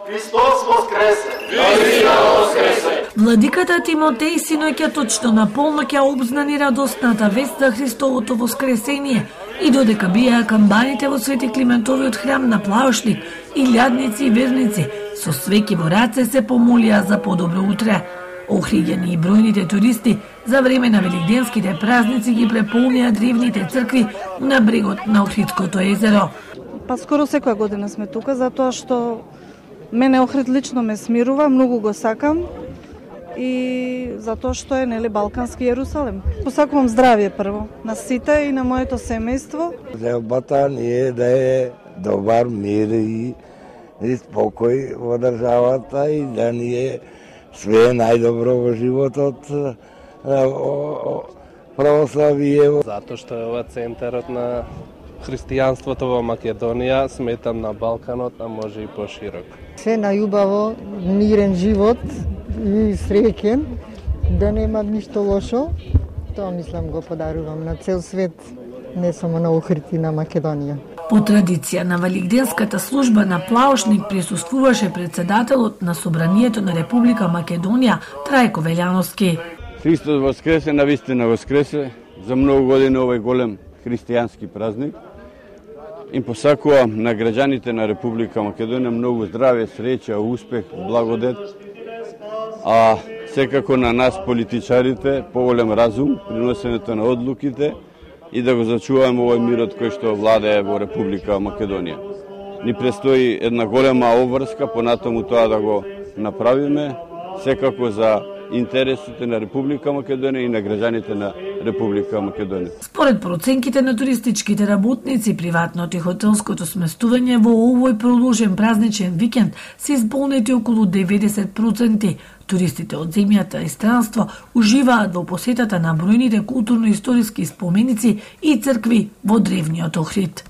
Христос воскресе! Христос воскресе! Владиката Тимотеј синоќа точно на полноќ ја обзнани радосната вест за Христовото воскресение и додека биеа камбаните во Свети Климентовиот храм на Плаошник, илјадници и верници со свеќи во раце се помолија за подобро утре. Охриѓани и бројните туристи за време на великденските празници ги преполнија древните цркви на брегот на Охридското езеро. Па скоро секоја година сме тука затоа што мене Охрид лично ме смирува, многу го сакам и затоа што е Балкански Јерусалем. Посакувам здравје прво на сите и на моето семејство. Желбата ни е да е добар мир и спокој во државата и да ни е све најдобро во животот, православие. Затоа што е ова центарот на христијанството во Македонија, сметам на Балканот, а може и поширок. Се најубаво, мирен живот и среќен, да нема ништо лошо. Тоа мислам го подарувам на цел свет, не само на Охрид и на Македонија. По традиција на Великденската служба на Плаошник присуствуваше председателот на Собранието на Република Македонија Трајко Велјановски. Христос воскресе, навистина воскресе. За многу години овој голем христијански празник. Им посакувам на граѓаните на Република Македонија многу здравје, среќа, успех, благодет. А секако на нас политичарите поголем разум при носенето на одлуките и да го зачуваме овој мирот кој што владее во Република Македонија. Ни престои една голема обврска, понатаму тоа да го направиме, секако за интересите на Република Македонија и на граѓаните на Република Македонија. Според проценките на туристичките работници, приватното и хотелското сместување во овој продолжен празничен викенд се исполнети околу 90%. Туристите од земјата и странство уживаат во посетата на бројните културно-историски споменици и цркви во древниот Охрид.